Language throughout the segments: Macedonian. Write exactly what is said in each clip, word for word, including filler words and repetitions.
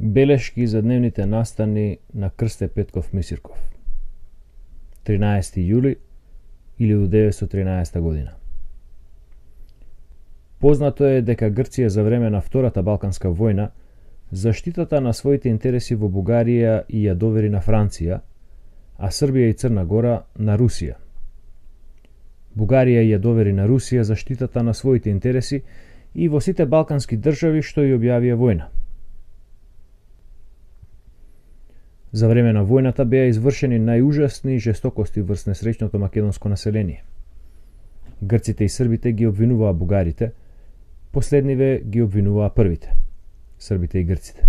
Белешки за дневните настани на Крсте Петков Мисирков. тринаесети јули илјадум деветстотини и тринаесета година. Познато е дека Грција за време на Втората Балканска војна заштитата на своите интереси во Бугарија и ја довери на Франција, а Србија и Црна Гора на Русија. Бугарија ја довери на Русија заштитата на своите интереси и во сите балкански држави што ја објавија војна. За време на војната беа извршени најужасни жестокости врз несреќното македонско население. Грците и србите ги обвинуваа бугарите, последниве ги обвинуваа првите, србите и грците.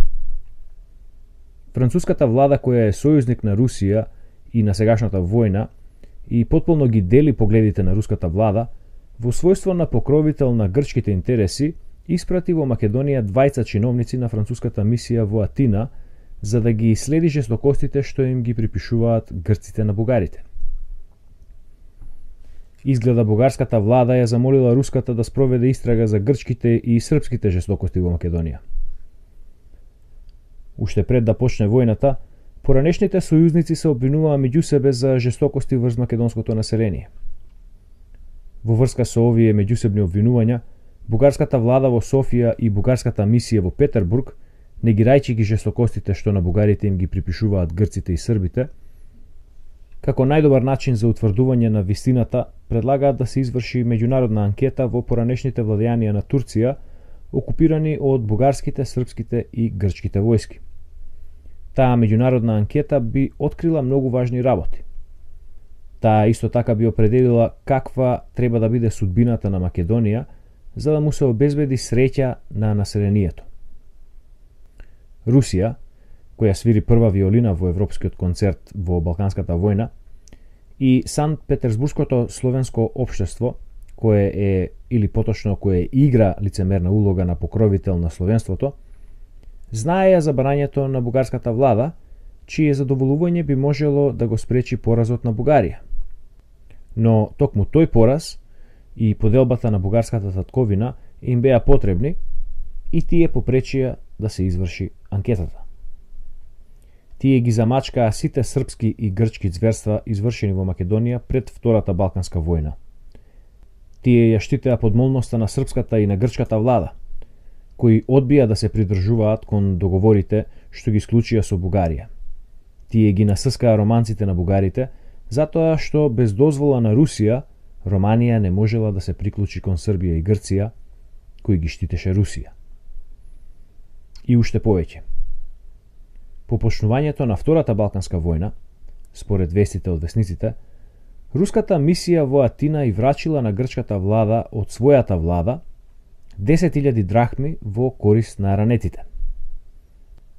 Француската влада, која е сојузник на Русија и на сегашната војна и потполно ги дели погледите на руската влада, во својство на покровител на грчките интереси, испрати во Македонија двајца чиновници на француската мисија во Атина, за да ги следи жестокостите што им ги припишуваат грците на бугарите. Изгледа бугарската влада ја замолила руската да спроведе истрага за грчките и српските жестокости во Македонија. Уште пред да почне војната, поранешните сојузници се обвинуваа меѓу себе за жестокости врз македонското население. Во врска со овие меѓусебни обвинувања, бугарската влада во Софија и бугарската мисија во Петербург, негирајќи ги жестокостите што на бугарите им ги припишуваат грците и србите, како најдобар начин за утврдување на вистината, предлагаат да се изврши меѓународна анкета во поранешните владејанија на Турција, окупирани од бугарските, српските и грчките војски. Таа меѓународна анкета би открила многу важни работи. Таа исто така би определила каква треба да биде судбината на Македонија, за да му се обезбеди среќа на населението. Русија, која свири прва виолина во европскиот концерт во Балканската војна, и Санкт Петерсбургското словенско општество, кое е, или поточно кое игра лицемерна улога на покровител на словенството, знаеја за барањето на бугарската влада, чие задоволување би можело да го спречи поразот на Бугарија. Но токму тој пораз и поделбата на бугарската татковина им беа потребни и тие попречија да се изврши анкетата. Тие ги замачкаа сите српски и грчки зверства извршени во Македонија пред Втората Балканска војна. Тие ја штитеа подмолноста на српската и на грчката влада, кои одбија да се придржуваат кон договорите што ги склучија со Бугарија. Тие ги насыскаа романците на бугарите, затоа што без дозвола на Русија, Романија не можела да се приклучи кон Србија и Грција, кои ги штитеше Русија. И уште повеќе. По почнувањето на Втората Балканска војна, според вестите од весниците, руската мисија во Атина и врачила на грчката влада од својата влада десет илјади драхми во корист на ранетите.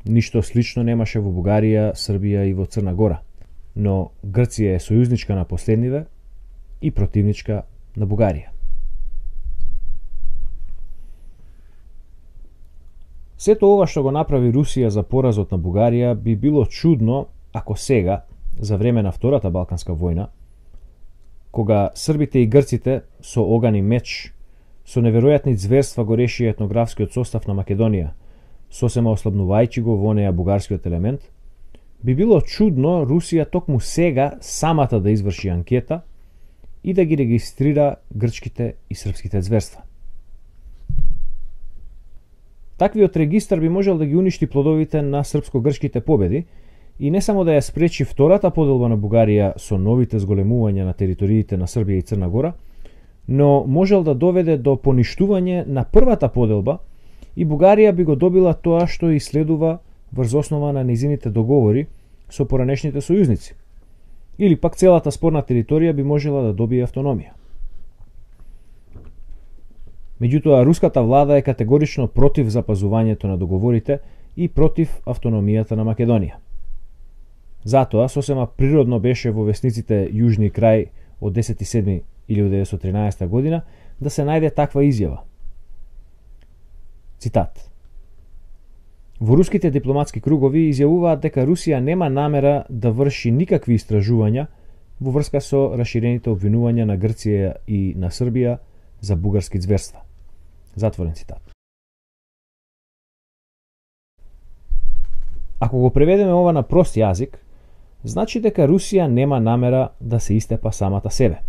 Ништо слично немаше во Бугарија, Србија и во Црна Гора, но Грција е сојузничка на последниве и противничка на Бугарија. Сето ова што го направи Русија за поразот на Бугарија би било чудно ако сега, за време на Втората Балканска војна, кога србите и грците со оган и меч, со неверојатни зверства го решија етнографскиот состав на Македонија, сосема ослабнувајќи го во неа бугарскиот елемент, би било чудно Русија токму сега самата да изврши анкета и да ги регистрира грчките и српските зверства. Таквиот регистар би можел да ги уништи плодовите на српско-грчките победи и не само да ја спречи втората поделба на Бугарија со новите зголемувања на териториите на Србија и Црна Гора, но можел да доведе до поништување на првата поделба и Бугарија би го добила тоа што и следува врз основа на низините договори со поранешните сојузници. Или пак целата спорна територија би можела да добие автономија. Меѓутоа, руската влада е категорично против запазувањето на договорите и против автономијата на Македонија. Затоа, сосема природно беше во весниците Јужни крај од десети седми илјадум деветстотини и тринаесета година да се најде таква изјава. Цитат. Во руските дипломатски кругови изјавуваат дека Русија нема намера да врши никакви истражувања во врска со раширените обвинувања на Грција и на Србија за бугарски зверства. Затворен цитат. Ако го преведеме ова на прост јазик, значи дека Русија нема намера да се истепа самата себе.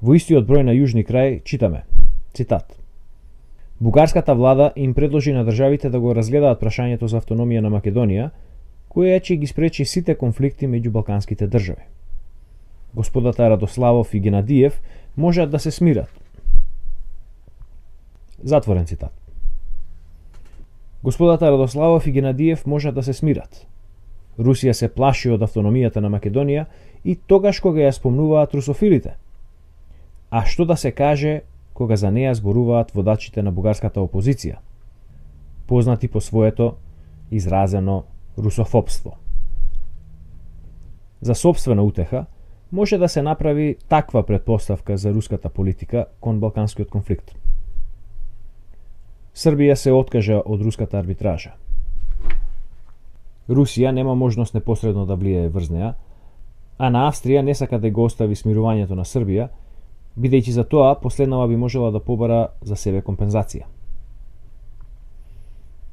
Во истиот број на Јужни крај читаме, цитат: Бугарската влада им предложи на државите да го разгледаат прашањето за автономија на Македонија, која ќе ги спречи сите конфликти меѓу балканските држави. Господата Радославов и Генадиев можат да се смират. Затворен цитат. Господата Радославов и Генадиев можат да се смират. Русија се плаши од автономијата на Македонија и тогаш кога ја спомнуваат русофилите. А што да се каже кога за неја зборуваат водачите на бугарската опозиција, познати по своето изразено русофобство. За сопствена утеха може да се направи таква претпоставка за руската политика кон балканскиот конфликт. Србија се откажа од руската арбитража. Русија нема можност непосредно да влијае врз неа, а на Австрија не сака да го остави смирувањето на Србија, бидејќи за тоа последнава би можела да побара за себе компензација.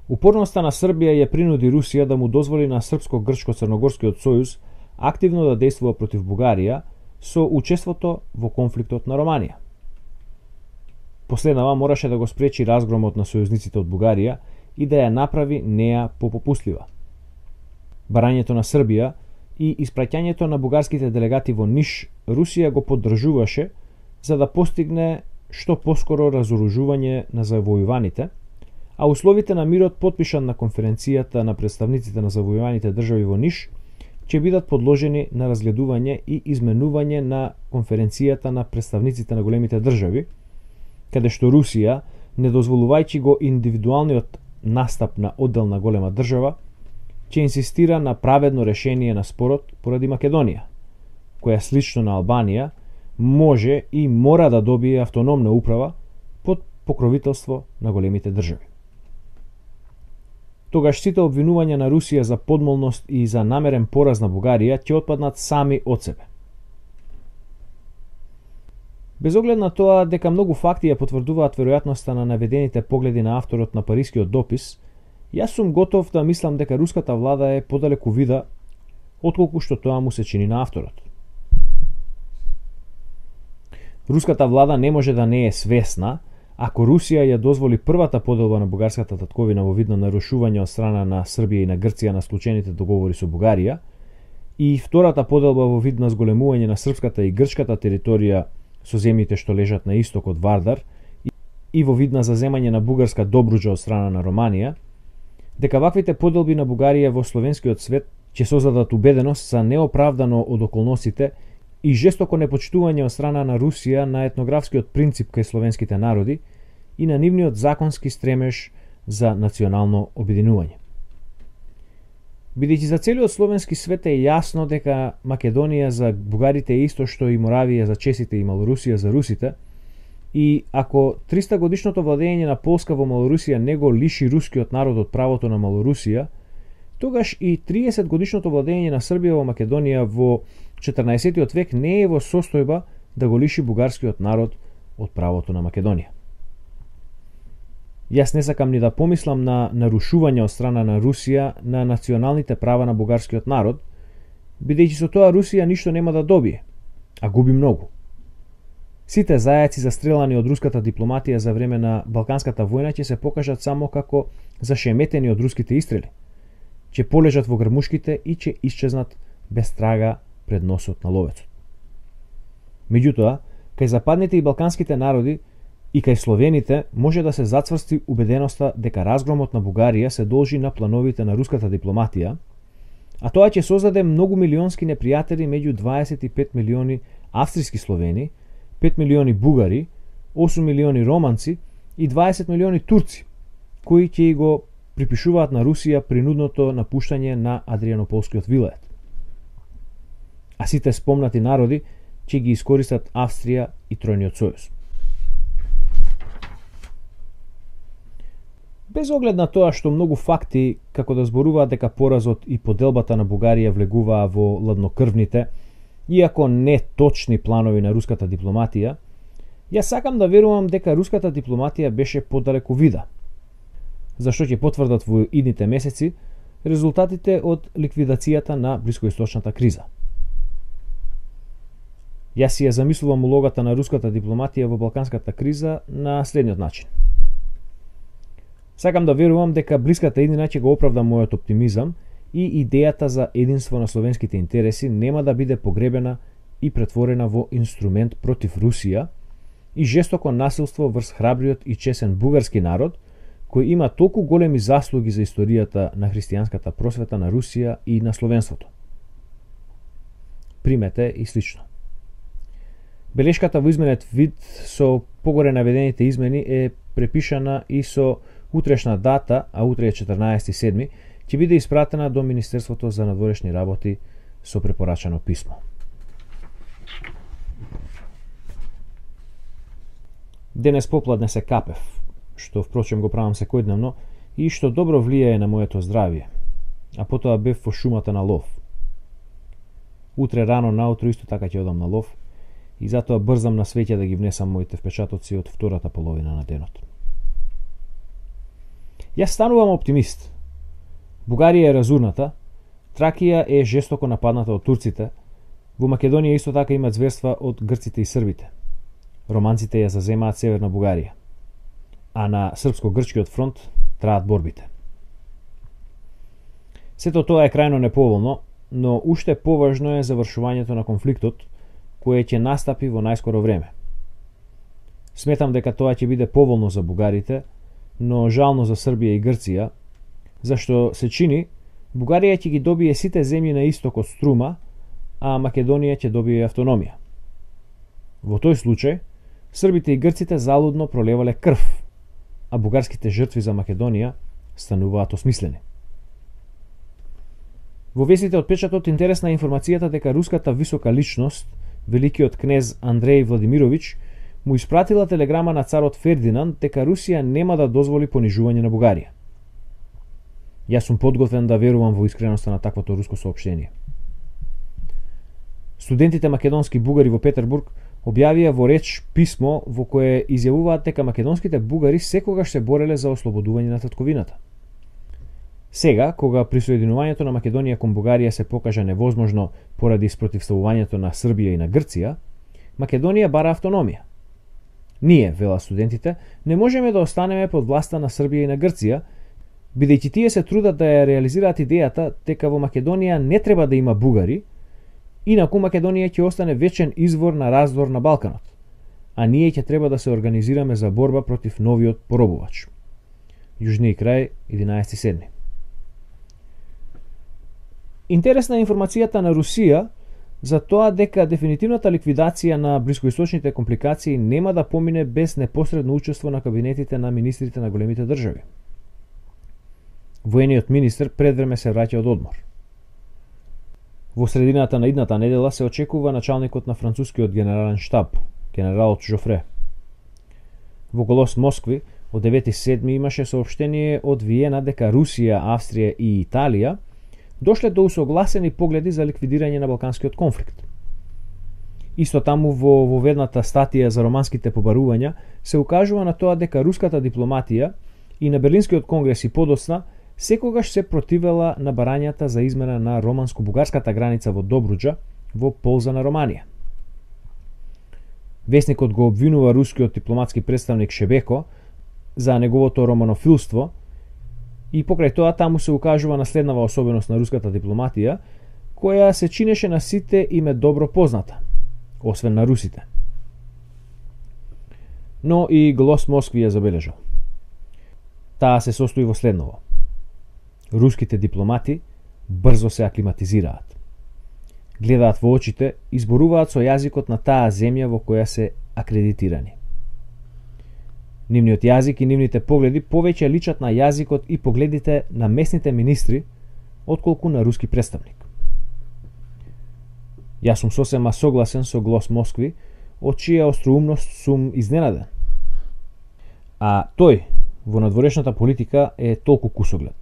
Упорноста на Србија ја принуди Русија да му дозволи на Српско-Грчко-Црногорскиот сојуз активно да действува против Бугарија со учеството во конфликтот на Романија. Последнава мораше да го спречи разгромот на сојузниците од Бугарија и да ја направи неа попопустлива. Барањето на Србија и испраќањето на бугарските делегати во Ниш Русија го поддржуваше за да постигне што поскоро разоружување на завојуваните, а условите на мирот потпишан на конференцијата на представниците на завојуваните држави во Ниш ќе бидат подложени на разгледување и изменување на конференцијата на представниците на големите држави, каде што Русија, не дозволувајќи го индивидуалниот настап на одделна голема држава, ќе инсистира на праведно решение на спорот поради Македонија, која слично на Албанија може и мора да добие автономна управа под покровителство на големите држави. Тогаш сите обвинувања на Русија за подмолност и за намерен пораз на Бугарија ќе отпаднат сами од себе. Без оглед на тоа дека многу факти ја потврдуваат веројатноста на наведените погледи на авторот на парискиот допис, јас сум готов да мислам дека руската влада е подалеку вида отколку што тоа му се чини на авторот. Руската влада не може да не е свесна ако Русија ја дозволи првата поделба на бугарската татковина во вид на нарушување од страна на Србија и на Грција на склучените договори со Бугарија и втората поделба во вид на зголемување на српската и грчката територија со земјите што лежат на исток од Вардар и во вид на заземање на бугарска Добруџа од страна на Романија, дека ваквите поделби на Бугарија во словенскиот свет ќе создадат убеденост за неоправдано од околностите и жестоко непочитување од страна на Русија на етнографскиот принцип кај словенските народи и на нивниот законски стремеж за национално обединување. Бидејќи за целиот словенски свет е јасно дека Македонија за бугарите е исто што и Моравија за чесите и Малорусија за русите, и ако триста годишното владење на Полска во Малорусија не го лиши рускиот народ од правото на Малорусија, тогаш и триесет годишното владење на Србија во Македонија во четрнаесеттиот век не е во состојба да го лиши бугарскиот народ од правото на Македонија. Јас не сакам ни да помислам на нарушување од страна на Русија на националните права на бугарскиот народ, бидејќи со тоа Русија ништо нема да добие, а губи многу. Сите зајаци застрелани од руската дипломатија за време на Балканската војна ќе се покажат само како зашеметени од руските истрели, ќе полежат во грмушките и ќе исчезнат без трага пред носот на ловецот. Меѓутоа, кај западните и балканските народи и кај словените може да се зацврсти убеденоста дека разгромот на Бугарија се должи на плановите на руската дипломатија, а тоа ќе создаде многу милионски непријатели меѓу дваесет и пет милиони австријски словени, пет милиони бугари, осум милиони романци и дваесет милиони турци, кои ќе го припишуваат на Русија принудното напуштање на Адрианополскиот вилает. А сите спомнати народи ќе ги искористат Австрија и Тројниот сојуз. Без оглед на тоа што многу факти како да зборуваат дека поразот и поделбата на Бугарија влегуваа во ладнокрвните, иако не точни планови на руската дипломатија, јас сакам да верувам дека руската дипломатија беше подалеку вида, зашто ќе потврдат во идните месеци резултатите од ликвидацијата на блискоисточната криза. Јас си ја замислувам улогата на руската дипломатија во балканската криза на следниот начин. Сакам да верувам дека блиската иднина ќе го оправда мојот оптимизам и идејата за единство на словенските интереси нема да биде погребена и претворена во инструмент против Русија и жестоко насилство врз храбриот и чесен бугарски народ, кој има толку големи заслуги за историјата на христијанската просвета на Русија и на словенството. Примете и слично. Белешката во изменет вид со погоре наведените измени е препишана и со утрешна дата, а утре е четрнаесети седми, ќе биде испратена до Министерството за надворешни работи со препорачано писмо. Денес попладне се капев, што впрочем го правам секојдневно и што добро влијае на моето здравје, а потоа бев во шумата на лов. Утре рано наутро исто така ќе одам на лов и затоа брзам на свеќе да ги внесам моите впечатоци од втората половина на денот. Јас станувам оптимист. Бугарија е разурната, Тракија е жестоко нападната од турците, во Македонија исто така има зверства од грците и србите. Романците ја заземаат северна Бугарија, а на српско-грчкиот фронт траат борбите. Сето тоа е крајно неповолно, но уште поважно е завршувањето на конфликтот, кое ќе настапи во најскоро време. Сметам дека тоа ќе биде поволно за бугарите, но жално за Србија и Грција, зашто се чини Бугарија ќе ги добие сите земји на исток од Струма, а Македонија ќе добие автономија. Во тој случај, србите и грците залудно пролевале крв, а бугарските жртви за Македонија стануваат осмислени. Во вестите од печатот интересна е информацијата дека руската висока личност, великиот кнез Андреј Владимирович, му испратила телеграма на царот Фердинанд дека Русија нема да дозволи понижување на Бугарија. Јас сум подготвен да верувам во искреноста на таквото руско соопштение. Студентите македонски бугари во Петербург објавија во реч писмо во кое изјавуваат дека македонските бугари секогаш се бореле за ослободување на татковината. Сега, кога присоединувањето на Македонија кон Бугарија се покажа невозможно поради спротивставувањето на Србија и на Грција, Македонија бара автономија. Ние, вела студентите, не можеме да останеме под власта на Србија и на Грција, бидејќи тие се трудат да ја реализираат идејата дека во Македонија не треба да има бугари, инаку Македонија ќе остане вечен извор на раздор на Балканот, а ние ќе треба да се организираме за борба против новиот поробувач. Јужни крај, единаесети седми. Интересна е информацијата на Русија за тоа дека дефинитивната ликвидација на блискоисточните компликации нема да помине без непосредно учество на кабинетите на министрите на големите држави. Воениот министер пред време се враќа од одмор. Во средината на идната недела се очекува началникот на францускиот генерален штаб, генералот Жофре. Во Голос Москви од девети седми имаше соопштение од Виена дека Русија, Австрија и Италија дошле до усогласени погледи за ликвидирање на балканскиот конфликт. Исто таму во воведната статија за романските побарувања се укажува на тоа дека руската дипломатија и на Берлинскиот конгрес и подоцна секогаш се противела на барањата за измена на романско-бугарската граница во Добруџа во полза на Романија. Весникот го обвинува рускиот дипломатски представник Шебеко за неговото романофилство и покрај тоа таму се укажува на следнава особеност на руската дипломатија, која се чинеше на сите име добро позната, освен на русите. Но и Голос Москви ја забележал. Таа се состои во следново. Руските дипломати брзо се аклиматизираат. Гледаат во очите и зборуваат со јазикот на таа земја во која се акредитирани. Нивниот јазик и нивните погледи повеќе личат на јазикот и погледите на местните министри, отколку на руски представник. Јас сум сосема согласен со Голос Москви, од чија остроумност сум изненаден. А тој во надворешната политика е толку кусоглед.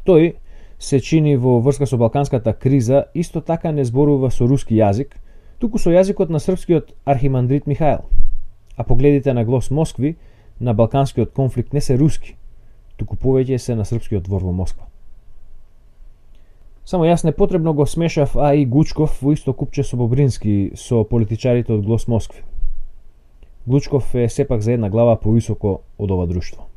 Тој се чини во врска со балканската криза исто така не зборува со руски јазик, туку со јазикот на српскиот архимандрит Михаел. А погледите на Голос Москви на балканскиот конфликт не се руски, туку повеќе се на српскиот двор во Москва. Само јас непотребно го смешав, а и Глучков во исто купче со Бобрински, со политичарите од Глос Москви. Глучков е сепак за една глава повисоко од ова друштво.